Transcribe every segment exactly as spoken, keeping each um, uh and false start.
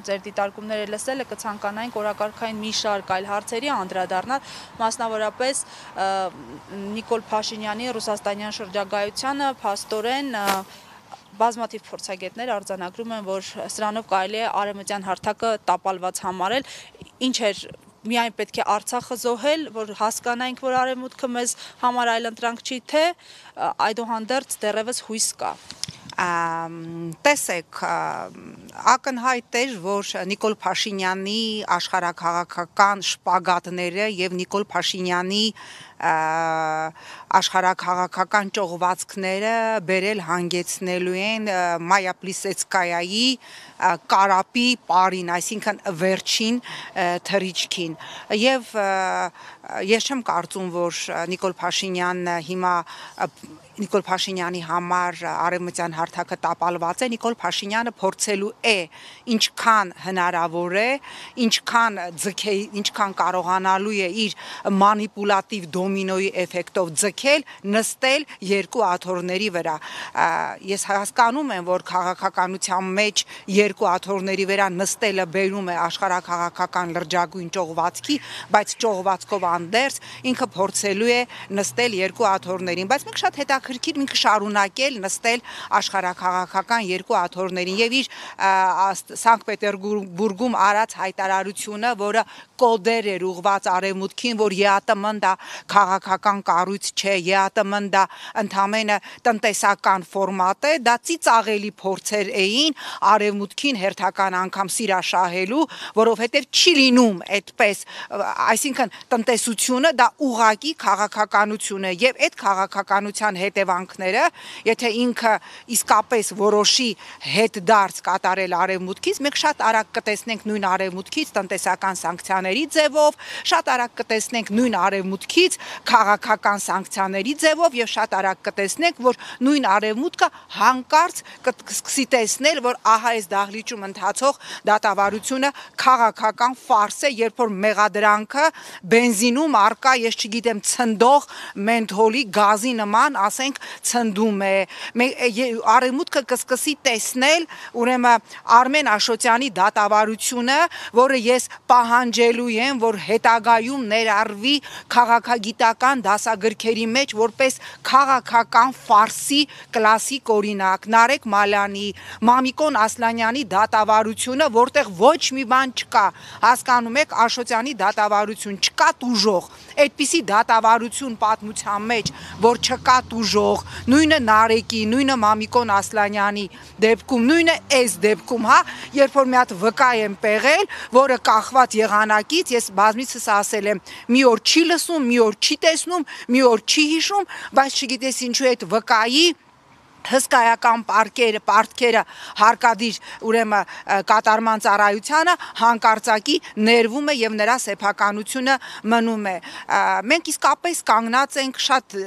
ձեր դիտարկումները լսել է, կցանկանայինք օրակարգային մի շարք այլ հարցերի անդրադառնալ, մասնավորապես Նիկոլ Փաշինյանի ռուսաստանյան շրջագայությանը փաստորեն բազմաթիվ փորձագետներ արձանագրում են, որ սրանով կարելի է արևմտյան հարթակը տապալված համարել, ինչ էր միայն պետք է Արցախը զոհել, որ հասկանայինք, որ արևմուտքը մեզ համար այլընտրանք չի, թե այդուհանդերձ դեռևս հույս կա։ Տեսեք, ակնհայտ էր, որ Նիկոլ Փաշինյանի աշխարհաքաղաքական շպագատները եւ Նիկոլ Փաշինյանի աշխարհաքաղաքական ճողվածքները բերել հանգեցնելու են Մայա Պլիսեցկայայի կարապի պարին, այսինքն վերջին թռիչքին, եւ ես չեմ կարծում, որ Նիկոլ Փաշինյանն հիմա Նիկոլ Փաշինյանի համար արևմտյան հարթակը տապալված է, Նիկոլ Փաշինյանը փորձելու է ինչքան հնարավոր է, ինչքան ձգե, ինչքան կարողանալու է իր մանիպուլատիվ դոմինոյի էֆեկտով ձգել, նստել երկու աթոռների վրա։ Ես հասկանում եմ, որ քաղաքականության մեջ երկու աթոռների վրա նստելը բերում է աշխարհաքաղաքական լրջագույն ճողվածքի, բայց ճողվածքով անդերձ ինքը փորձելու է նստել երկու աթոռներին, բայց մենք շատ հետաքրքիր ինքը շարունակել նստել աշխարհաքաղաքական երկու աթոռներին եւ իր Սանկտ Պետերբուրգում արած հայտարարությունը, որը կոդեր էր ուղված արևմուտքին, որ ԵԱՏՄ-ն դա քաղաքական կառույց չէ, ԵԱՏՄ-ն դա ընդամենը տնտեսական ֆորմատ է, դա ծիծաղելի փորձեր էին արևմուտքին հերթական անգամ սիրաշահելու, որովհետեւ չի լինում այդպես, այսինքն տնտեսությունը դա ուղակի քաղաքականություն է եւ այդ քաղաքականության հետևանքները, եթե ինքը իսկապես որոշի հետդարձ կատարել արևմուտքից, մենք շատ արագ կտեսնենք նույն արևմուտքից տնտեսական սանկցիաների ձևով, շատ արագ կտեսնենք նույն արևմուտքից քաղաքական սանկցիաների ձևով եւ շատ արագ կտեսնենք, որ նույն արևմուտքը հանկարծ կսկսի տեսնել, որ ահա այս դահլիճում ընթացող դատավարությունը քաղաքական ֆարս է, երբ որ մեղադրանքը բենզինում արկա, ես չգիտեմ, ցնդող մենթոլի գազի նման, ասենք, ցնդում է։ Արևմուտքը կսկսի տեսնել, ուրեմն Արմեն Աշոտյանի դատավարությունը, որը ես պահանջելու եմ, որ հետագայում ներառվի քաղաքագիտական դասագրքերի մեջ որպես քաղաքական ֆարսի կլասիկ օրինակ, Նարեկ Մալյանի, Մամիկոն Ասլանյանի դատավարությունը, որտեղ ոչ մի բան չկա, հասկանում եք, Աշոտյանի դատավարություն չկա տուժող, այդպիսի դատավարություն պատմության մեջ, որ չկա տուժող, նույնը Նարեկի, նույնը Մամիկոն Ասլանյանի դեպքում, նույնը այս դեպքում, հա, երբ որ մի հատ վկա եմ պեղել, որը կախված եղանակից, ես բազմիցս ասել եմ, մի օր չի լսում, մի օր չի տեսնում, մի օր չի հիշում, բայց չգիտես ինչու այդ վկայի հսկայական պարտքերը, պարտքերը հարկադիր ուրեմն կատարման ծառայությանը հանկարծակի ներվում է եւ նրա սեփականությունը մնում է։ Մենք իսկապես կանգնած ենք շատ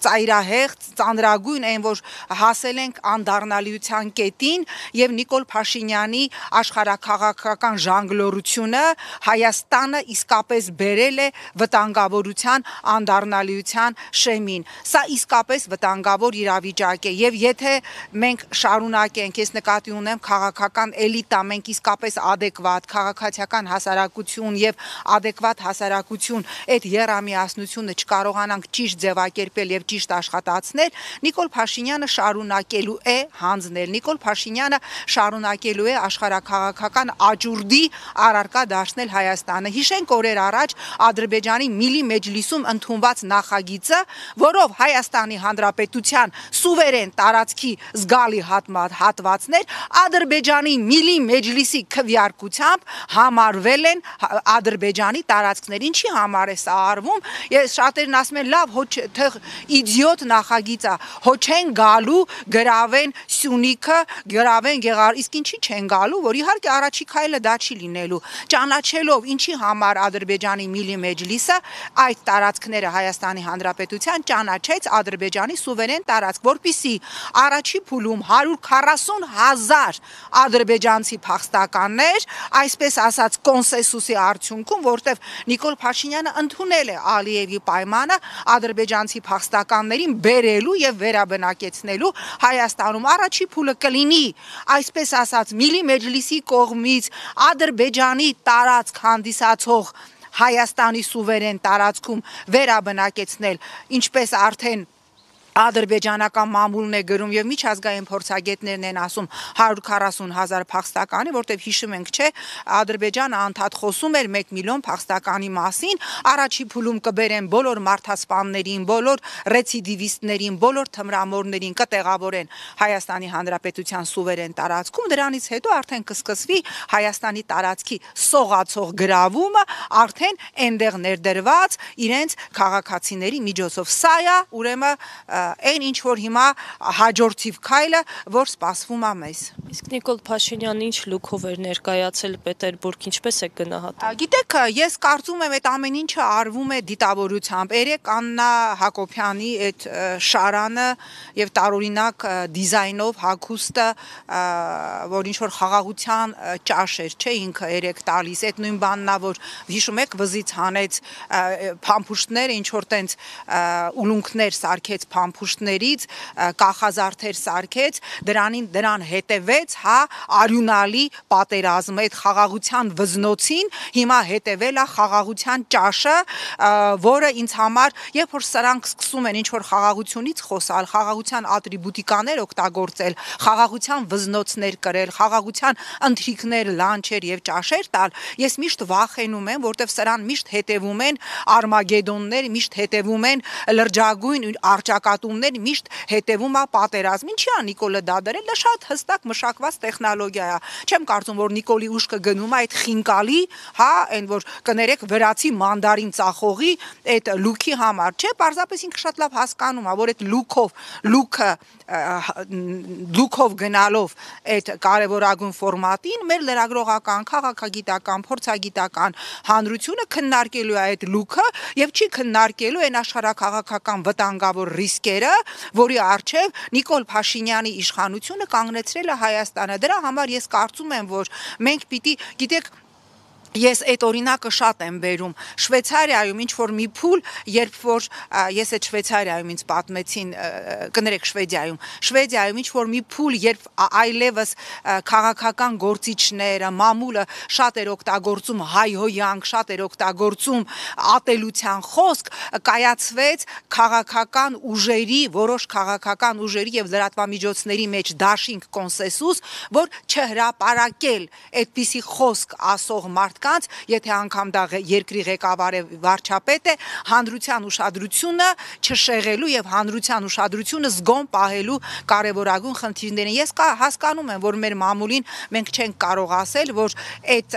ծայրահեղ, ծանրագույն այն, որ հասել ենք անդառնալիության կետին եւ Նիկոլ Փաշինյանի աշխարհաքաղաքական ժանգլորությունը Հայաստանը իսկապես բերել է վտանգավորության անդառնալիության շեմին։ Սա իսկապես վտանգավոր իրավիճակ է եւ եթե մենք շարունակենք, ես նկատի ունեմ քաղաքական էլիտա, մենք իսկապես adekvat քաղաքացիական հասարակություն եւ adekvat հասարակություն այդ երամիասնությունը չկարողանանք ճիշտ ձևակերպել եւ ճիշտ աշխատացնել, Նիկոլ Փաշինյանը շարունակելու է հանձնել, Նիկոլ Փաշինյանը շարունակելու է աշխարհաքաղաքական աճուրդի առարկա դարձնել Հայաստանը։ Հիշենք օրեր առաջ Ադրբեջանի Միլի Մեջլիսում ընդունված նախագիծը, որով Հայաստանի Հանրապետության սուվերեն տարածքի զգալի հատվածներ Ադրբեջանի Միլի Մեջլիսի քվեարկությամբ համարվել են Ադրբեջանի տարածքներ։ Ինչի համար է սա արվում։ Ես շատերն ասում են, լավ, հո թեղ իդիոտ նախագիծ է, հո չեն գալու գրավեն Սյունիքը, գրավեն Գեղարդը, իսկ ինչի չեն գալու, որ իհարկե առաջի քայլը դա չի լինելու։ Ճանաչելով ինչի համար Ադրբեջանի Միլի Մեջլիսը այդ տարածքները Հայաստանի Հանրապետության ճանաչեց Ադրբեջանի սուվերեն տարածք, որպեսզի առաջի փուլում հարյուր քառասուն հազար ադրբեջանցի փախստականներ, այսպես ասած կոնսենսուսի արդյունքում, որտեղ Նիկոլ Փաշինյանը ընդունել է Ալիևի պայմանը ադրբեջանցի փախստականներին բերելու եւ վերաբնակեցնելու Հայաստանում առաջի փուլը կլինի, այսպես ասած Միլի Մեջլիսի կողմից Ադրբեջանի տարածք հանդիսացող Հայաստանի սուվերեն տարածքում վերաբնակեցնել, ինչպես արդեն ադրբեջանական մամուլն է գրում եւ միջազգային փորձագետներն են ասում հարյուր քառասուն հազար փախստականի, որտեղ հիշում ենք, չէ, Ադրբեջանը անդադ խոսում էր մեկ միլիոն փախստականի մասին, առաջի փուլում կբերեն բոլոր մարդասպաններին, բոլոր ռեցիդիվիստներին, բոլոր թմրամորներին կտեղավորեն Հայաստանի Հանրապետության սուվերեն տարածքում, դրանից հետո արդեն կսկսվի Հայաստանի տարածքի սողացող գրավումը, արդեն այնտեղ ներդրված իրենց քաղաքացիների միջոցով։ Սա է ուրեմն այն ինչ որ հիմա հաջորդիվ քայլը, որ սպասվում է մեզ։ Իսկ Նիկոլ Փաշինյանը ինչ լուքով էր ներկայացել Պետերբուրգ, ինչպես է գնահատում։ Գիտեք, ես կարծում եմ այդ ամեն ինչը արվում է դիտավորությամբ։ Երեք Աննա Հակոբյանի այդ շարանը եւ տարօրինակ դիզայնով հագուստը, որ ինչ որ խաղաղության ճաշ էր, չէ, ինքը երեք տալիս, այդ նույն բանն է, որ հիշում եք վզից հանեց փամփուշտները, ինչ որ տենց ուլունքներ սարքեց փամփուշտներից, կախազարդեր սարքեց, դրանին դրան հետևեց, հա, արյունալի պատերազմը, այդ խաղաղության վզնոցին հիմա հետևել է խաղաղության ճաշը, որը ինձ համար, երբ որ սրանք սկսում են ինչ որ խաղաղությունից խոսալ, խաղաղության ատրիբուտիկաներ օգտագործել, խաղաղության վզնոցներ կրել, խաղաղության ընթրիքներ, լանչեր եւ ճաշեր տալ, ես միշտ վախենում եմ, որտեվ սրան միշտ հետևում են արմագեդոններ, միշտ հետևում են լրջագույն արճակատումներ, միշտ հետևում է պատերազմ։ Ինչի՞ է Նիկոլը դա դրել, դա շատ հստակ մշակված տեխնոլոգիա է։ Չեմ կարծում, որ Նիկոլի ուշքը գնում է այդ խինկալի, հա, այն որ կներեք վրացի մանդարին ծախողի այդ լուքի համար, չէ, պարզապես ինքը շատ լավ հասկանում է, որ այդ լուքով, լուքը լուքով գնալով այդ կարևորագույն ֆորմատին մեր լրագրողական, քաղաքագիտական, փորձագիտական հանրությունը քննարկելու է այդ լուքը եւ չի քննարկելու այն աշխարհակաղակական վտանգավոր ռիսկերը, որի առջև Նիկոլ Փաշինյանի իշխանությունը կանգնեցրել է Հայաստանը։ Դրա համար ես կարծում եմ, որ մենք պիտի, գիտեք, ես այդ օրինակը շատ եմ բերում Շվեյցարիայում ինչ որ մի փուլ, երբ որ ես այդ Շվեյցարիայում ինձ պատմեցին, կներեք Շվեդիայում, Շվեդիայում ինչ որ մի փուլ, երբ այլևս քաղաքական գործիչները, մամուլը շատ էր օգտագործում հայհոյանք, շատ էր օգտագործում ատելության խոսք, կայացվեց քաղաքական ուժերի, որոշ քաղաքական ուժերի եւ լրատվամիջոցների մեջ դաշինք կոնսենսուս, որ չհրապարակել այդպիսի խոսք ասող մարդ կանց, եթե անգամ դա երկրի ղեկավար է, վարչապետ է, հանրության ուշադրությունը չշեղելու եւ հանրության ուշադրությունը զգոն պահելու կարեւորագույն խնդիրներ են։ Ես հասկանում եմ, որ մեր մամուլին մենք չենք կարող ասել, որ այդ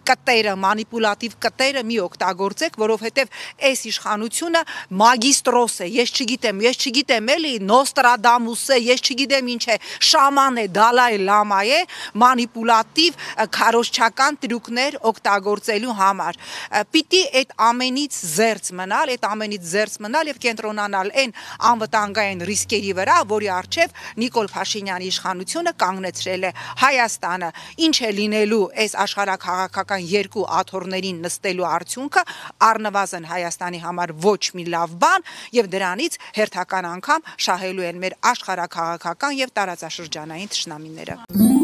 կտերը, մանիպուլատիվ կտերը մի օգտագործեք, որովհետեւ այս իշխանությունը մագիստրոս է, ես չգիտեմ, ես չգիտեմ էլի Նոստրադամուս է, ես չգիտեմ ինչ է, շաման է, Դալայ Լամա է, մանիպուլատիվ քարոզչական տրյուկներ օգտագործելու համար։ Պիտի այդ ամենից զերծ մնալ, այդ ամենից զերծ մնալ եւ կենտրոնանալ այն անվտանգային ռիսկերի վրա, որի առջև Նիկոլ Փաշինյանի իշխանությունը կանգնեցրել է Հայաստանը։ Ինչ է լինելու այս աշխարհակաղակական երկու աթոռներին նստելու արդյունքը, առնվազն Հայաստանի համար ոչ մի լավ բան եւ դրանից հերթական անգամ շահելու են մեր աշխարհակաղակական եւ տարածաշրջանային թշնամիները։